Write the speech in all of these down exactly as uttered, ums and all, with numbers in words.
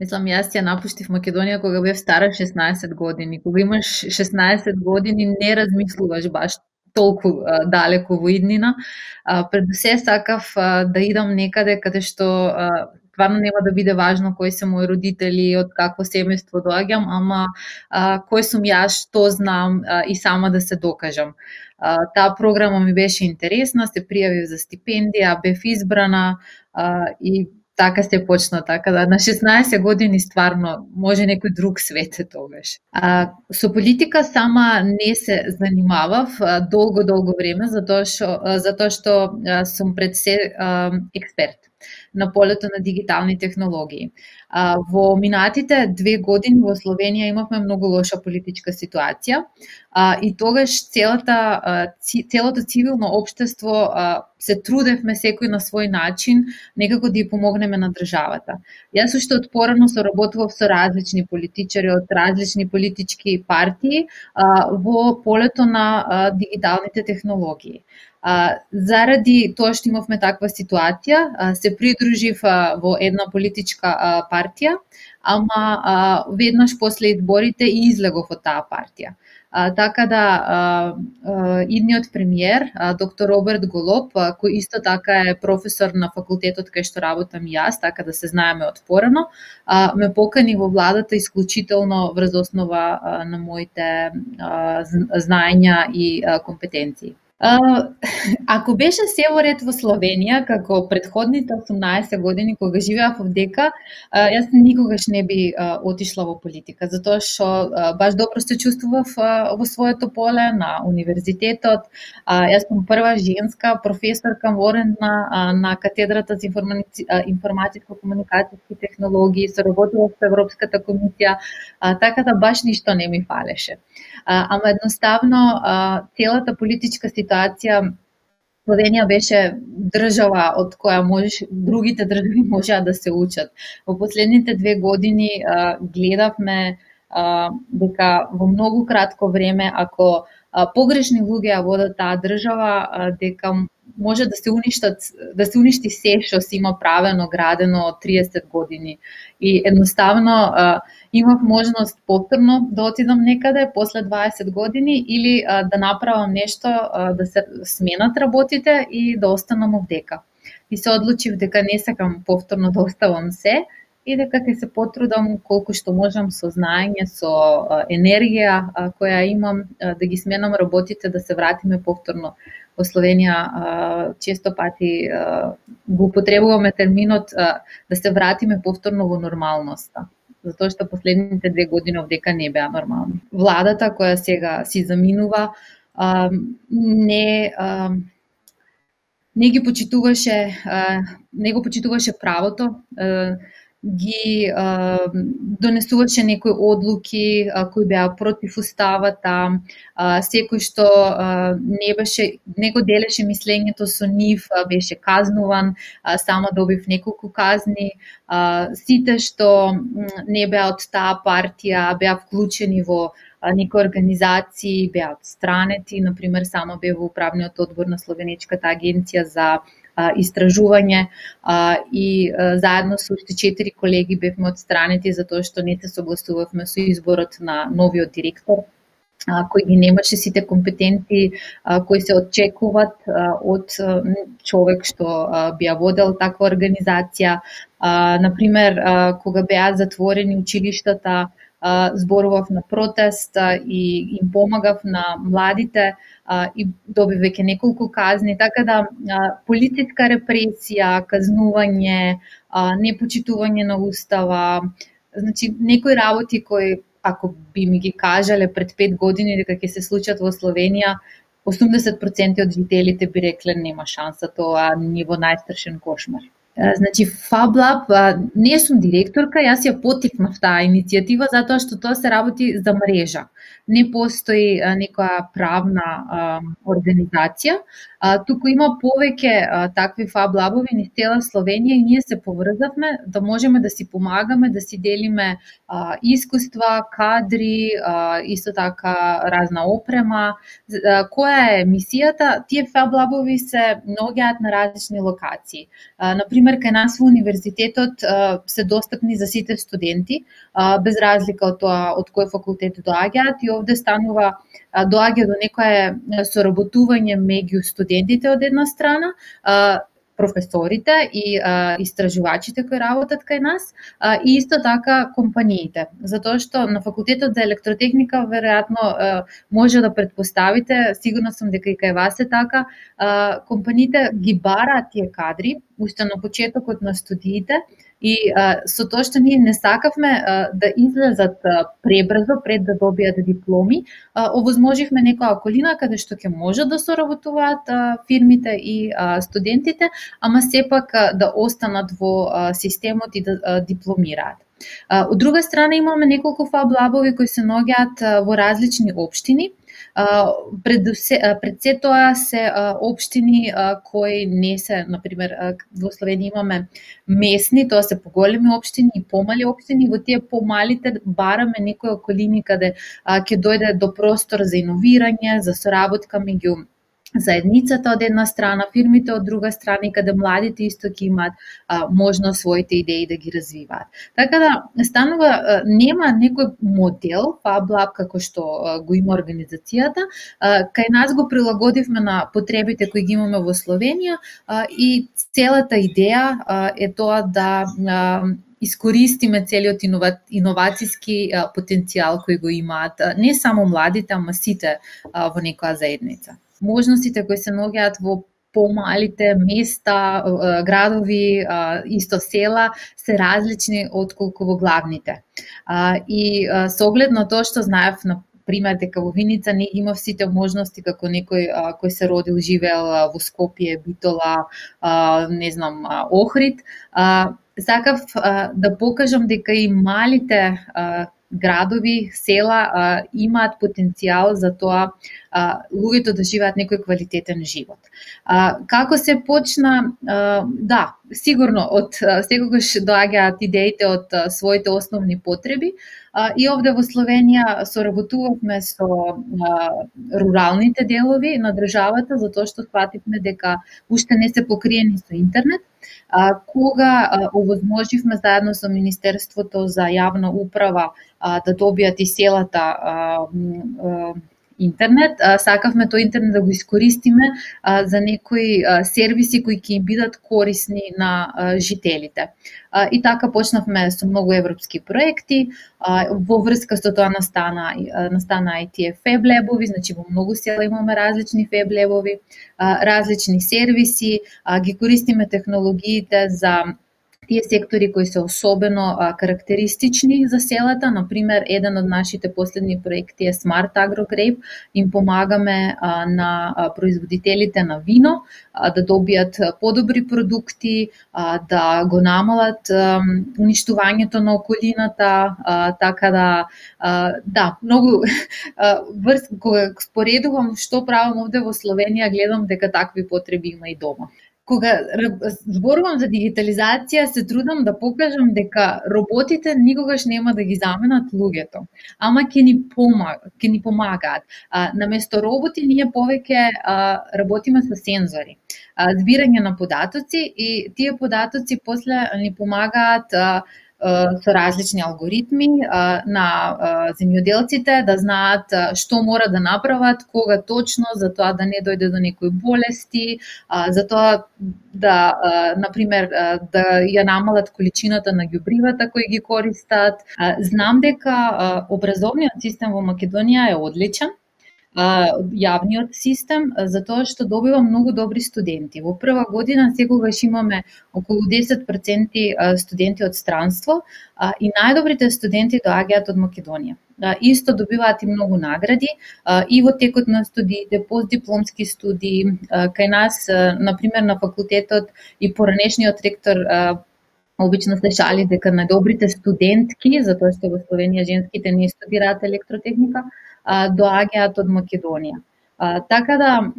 Мислам, јас ја напуштив Македонија кога бев стара шеснаесет години. Кога имаш шеснаесет години не размислуваш баш толку а, далеку во иднина. А, пред се сакав а, да идам некаде каде што а, стварно нема да биде важно кои се мои родители, од какво семејство доаѓам, ама а, кој сум јас, што знам а, и сама да се докажам. А, таа програма ми беше интересна, се пријавив за стипендија, бев избрана а, и така се почна, така да на шеснаесет години стварно може некој друг свет е тогаш. А, со политика сама не се занимавав а, долго долго време затоа што затоа што а, сум пред се а, експерт на полето на дигитални технологии. А, во минатите две години во Словенија имавме многу лоша политичка ситуација а, и тогаш целата а, целото цивилно општество а, се трудевме секој на свој начин некако да ја помогнеме на државата. Јас уште од порано соработував со различни политичари од различни политички партии а, во полето на а, дигиталните технологии. А, заради тоа што имавме таква ситуација, а, се придружив а, во една политичка а, партија, ама а, веднаш после изборите и излегов од таа партија. А, така да а, а, идниот премиер, а, доктор Роберт Голоб, а, кој исто така е професор на факултетот кај што работам и јас, така да се знаеме од порано, а, ме покани во владата исклучително врз основа а, на моите а, знаења и а, компетенции. Uh, ако беше се во ред во Словенија, како предходните осумнаесет години кога живеав овдека, uh, јас никогаш не би uh, отишла во политика, затоа што uh, баш добро се чувствував uh, во своето поле на универзитетот. Uh, јас сум прва женска професорка ворена uh, на катедрата за информатичко-комуникацијски технологии, соработував со Европската комисија, uh, така да баш ништо не ми фалеше. Uh, ама едноставно uh, целата политичка ситуација Словенија беше држава од која можеш, другите држави можеа да се учат. Во последните две години а, гледавме а, дека во многу кратко време, ако а, погрешни луѓе ја водат таа држава, а, дека може да се уништат, да се уништи се што се има правено, градено од триесет години. И едноставно а, имав можност повторно да отидам некаде после дваесет години или а, да направам нешто, а, да се сменат работите и да останам овдека. И се одлучив дека не сакам повторно да оставам се и дека ќе се потрудам колку што можам со знаење, со а, енергија а, која имам, а, да ги сменам работите, да се вратиме повторно во Словенија. Често пати го употребуваме терминот да се вратиме повторно во нормалноста, затоа што последните две години овдека не беа нормални. Владата која сега си заминува не не ги почитуваше не го почитуваше правото, ги а, донесуваше некои одлуки а, кои беа против уставата, а, секој што а, не беше, не го делеше мислењето со нив, а, беше казнуван, а, само добив неколку казни, а, сите што не беа од таа партија беа вклучени во а, некои организации, беа отстранети, например само бев во управниот одбор на Словенечката агенција за истражување а, и а, заедно со уште четири колеги бевме отстранети затоа што не се согласувавме со изборот на новиот директор, а, кој ги немаше сите компетенции а, кои се очекуваат а, од а, човек што а, би ја водел таква организација. А, например, а, кога беа затворени училиштата, зборував на протест и им помагав на младите и добив веќе неколку казни, така да полициска репресија, казнување, непочитување на устава, значи некои работи кои ако би ми ги кажале пред пет години дека ќе се случат во Словенија, осумдесет проценти од жителите би рекле нема шанса, тоа ни во најстрашен кошмар. Значи, FabLab, не сум директорка, јас ја потикнав таа иницијатива затоа што тоа се работи за мрежа. Не постои некоја правна а, организација, А, туку има повеќе а, такви Fab Lab-ови низ цела Словенија и ние се поврзавме да можеме да си помагаме, да си делиме а, искуства, кадри, а, исто така разна опрема. А, која е мисијата? Тие Fab Lab-ови се наоѓаат на различни локации. А, например, кај нас во универзитетот а, се достапни за сите студенти, а, без разлика од тоа од кој факултет доаѓаат, и овде станува а, доаѓа до некое соработување меѓу студентите од една страна, а, професорите и а, истражувачите кои работат кај нас, а, и исто така компаниите. Затоа што на факултетот за електротехника веројатно а, може да предпоставите, сигурно сум дека и кај вас е така, а, компаниите ги бараат тие кадри уште на почетокот на студиите, и а, со тоа што ние не сакавме а, да излезат а, пребрзо пред да добијат дипломи, а, овозможивме некоја околина каде што ќе можат да соработуваат а, фирмите и а, студентите, ама сепак а, да останат во а, системот и да а, дипломираат. А, од друга страна имаме неколку Fab Lab-ови кои се наоѓаат во различни општини. Uh, пред, се, uh, пред се тоа се uh, општини uh, кои не се, например, uh, во Словенија имаме местни, тоа се поголеми општини и помали општини, во тие помалите бараме некои околини каде uh, ќе дојде до простор за иновирање, за соработка меѓу заедницата од една страна, фирмите од друга страна, и каде младите исто ќе имаат а, можност своите идеи да ги развиваат. Така да станува, а, нема некој модел Fab Lab како што а, го има организацијата. А, кај нас го прилагодивме на потребите кои ги имаме во Словенија, а, и целата идеја а, е тоа да а, искористиме целиот инова, иновацијски а, потенцијал кој го имаат а, не само младите, ама сите а, во некоја заедница. Можностите кои се наоѓаат во помалите места, градови, исто села, се различни отколку во главните. И со оглед на тоа што знаев, на пример, дека во Виница не има сите можности како некој кој се родил, живеел во Скопје, Битола, не знам, Охрид, сакав да покажам дека и малите градови, села а, имаат потенцијал за тоа а, луѓето да живеат некој квалитетен живот. А, како се почна? А, да, сигурно од секогаш доаѓаат идеите од а, своите основни потреби, а, и овде во Словенија соработувавме со а, руралните делови на државата, затоа што сфативме дека уште не се покриени со интернет. А, кога а, овозможивме заедно со Министерството за јавна управа а, да добијат и селата а, а, интернет, а, сакавме тој интернет да го искористиме а, за некои а, сервиси кои ќе им бидат корисни на а, жителите. А, и така почнавме со многу европски проекти. А, во врска со тоа настана настана и тие Fab Lab-ови, значи во многу села имаме различни Fab Lab-ови, а, различни сервиси, а, ги користиме технологиите за тие сектори кои се особено а, карактеристични за селата. Например, еден од нашите последни проекти е Smart Agro Grape. Им помагаме а, на а, производителите на вино а, да добијат подобри продукти, а, да го намалат а, уништувањето на околината, а, така да а, да, многу врз кога споредувам што правам овде во Словенија, гледам дека такви потреби има и дома. Кога зборувам за дигитализација, се трудам да покажам дека роботите никогаш нема да ги заменат луѓето, ама ќе ни помагаат, ќе ни помагаат. А, наместо роботи ние повеќе а, работиме со сензори, а, збирање на податоци, и тие податоци после ни помагаат а, со различни алгоритми на земјоделците да знаат што мора да направат, кога точно, за тоа да не дојде до некои болести, за тоа да, например, да ја намалат количината на ѓубривата кои ги користат. Знам дека образовниот систем во Македонија е одличен, јавниот систем, затоа што добива многу добри студенти. Во прва година секогаш имаме околу десет проценти студенти од странство, и најдобрите студенти доаѓаат од Македонија. Исто добиваат и многу награди и во текот на студиите, постдипломски студии. Кај нас, например, на факултетот и поранешниот ректор обично се шали дека најдобрите студентки, затоа што во Словенија женските не студираат електротехника, доаѓаат од Македонија. А, така да,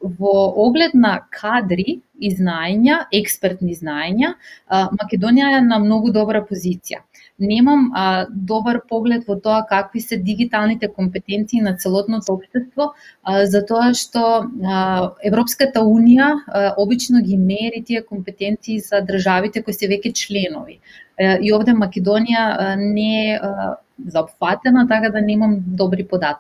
во оглед на кадри и знаења, експертни знаења, Македонија е на многу добра позиција. Немам а, добар поглед во тоа какви се дигиталните компетенции на целотното општество, а, затоа што а, Европската Унија а, обично ги мери тие компетенции за државите кои се веќе членови. А, и овде Македонија а, не е заопфатена, така да немам добри податоци.